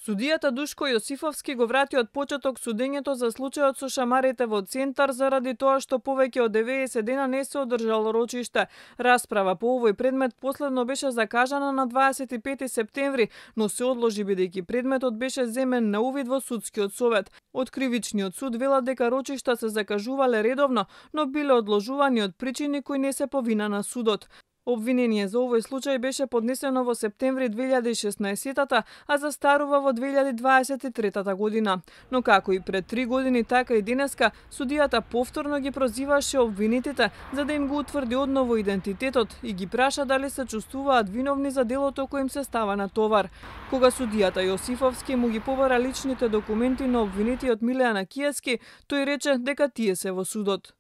Судијата Душко Јосифовски го врати од почеток судењето за случајот со шамарите во Центар заради тоа што повеќе од 90 дена не се одржало рочиште. Расправа по овој предмет последно беше закажана на 25 септември, но се одложи бидејќи предметот беше земен на увид во судскиот совет. Од кривичниот суд велат дека рочишта се закажувале редовно, но биле одложувани од причини кои не се по вина на судот. Обвинение за овој случај беше поднесено во септември 2016, а застарува во 2023 година. Но како и пред 3 години, така и денеска, судијата повторно ги прозиваше обвинетите за да им го утврди одново идентитетот и ги праша дали се чувствуваат виновни за делото кој им се става на товар. Кога судијата Јосифовски му ги побара личните документи на обвинетиот Милеана Кијески, тој рече дека тие се во судот.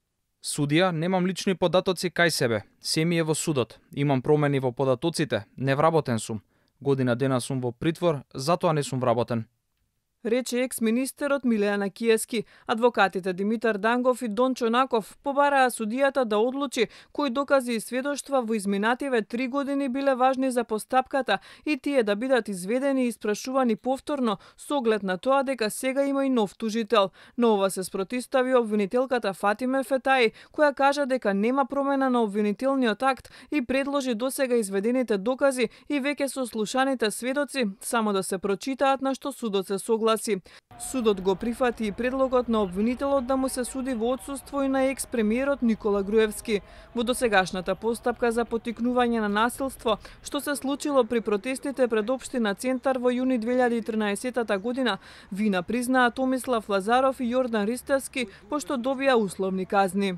Судија, немам лични податоци кај себе. Се ми е во судот. Имам промени во податоците. Не вработен сум. Година дена сум во притвор, затоа не сум вработен. Рече екс-министерот Милеана Кијески. Адвокатите Димитар Дангов и Дон Чонаков побараа судијата да одлучи кои докази и сведоштва во изминативе 3 години биле важни за постапката и тие да бидат изведени и испрашувани повторно со оглед на тоа дека сега има и нов тужител. Но ова се спротистави обвинителката Фатиме Фетаи, која кажа дека нема промена на обвинителниот акт и предложи досега изведените докази и веќе сослушаните сведоци само да се прочитаат, на што судот се согласи. Судот го прифати и предлогот на обвинителот да му се суди во отсуство и на екс-премиерот Никола Груевски. Во досегашната постапка за поттикнување на насилство, што се случило при протестите пред општина Центар во јуни 2013 година, вина признаа Томислав Лазаров и Јордан Ристевски, пошто добија условни казни.